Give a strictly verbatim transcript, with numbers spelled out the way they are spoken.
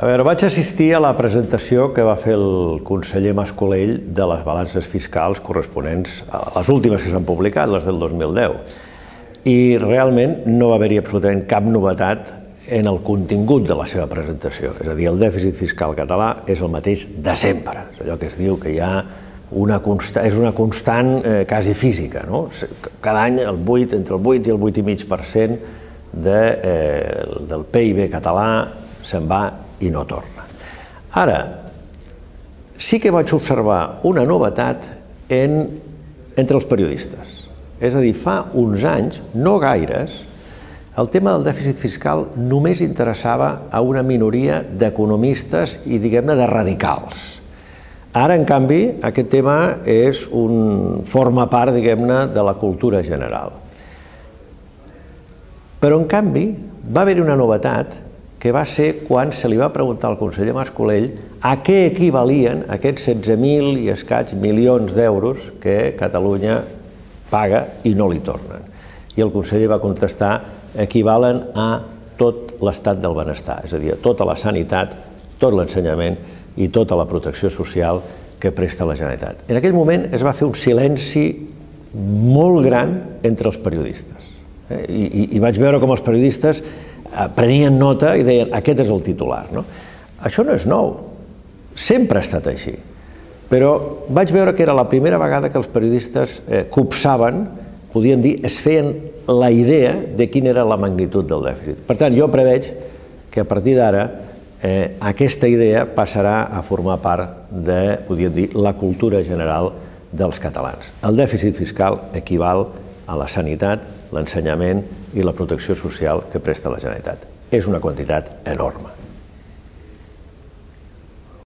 A veure, vaig assistir a la presentació que va fer el conseller Mas-Colell de les balances fiscals corresponents a les últimes que s'han publicat, les del dos mil deu. I realment no va haver-hi absolutament cap novetat en el contingut de la seva presentació. És a dir, el dèficit fiscal català és el mateix de sempre. És allò que es diu que hi ha una constant, és una constant eh, quasi física, no? Cada any el vuit, entre el vuit i el vuit i mig per cent de, eh, del P I B català se'n va i no torna. Ara, sí que vaig observar una novetat en, entre els periodistes. És a dir, fa uns anys, no gaires, el tema del dèficit fiscal només interessava a una minoria d'economistes i, diguem-ne, de radicals. Ara, en canvi, aquest tema és un, forma part, diguem-ne, de la cultura general. Però, en canvi, va haver-hi una novetat que va ser quan se li va preguntar al conseller Mas-Colell a què equivalien aquests setze mil i escaig milions d'euros que Catalunya paga i no li tornen. I el conseller va contestar: equivalen a tot l'estat del benestar, és a dir, a tota la sanitat, tot l'ensenyament i tota la protecció social que presta la Generalitat. En aquell moment es va fer un silenci molt gran entre els periodistes. I, i, i vaig veure com els periodistes prenien nota i deien aquest és el titular. No? Això no és nou, sempre ha estat així. Però vaig veure que era la primera vegada que els periodistes eh, copsaven, podien dir, es feien la idea de quina era la magnitud del dèficit. Per tant, jo preveig que a partir d'ara eh, aquesta idea passarà a formar part de, podríem dir, la cultura general dels catalans. El dèficit fiscal equival a la sanitat, l'ensenyament i la protecció social que presta la Generalitat. És una quantitat enorme.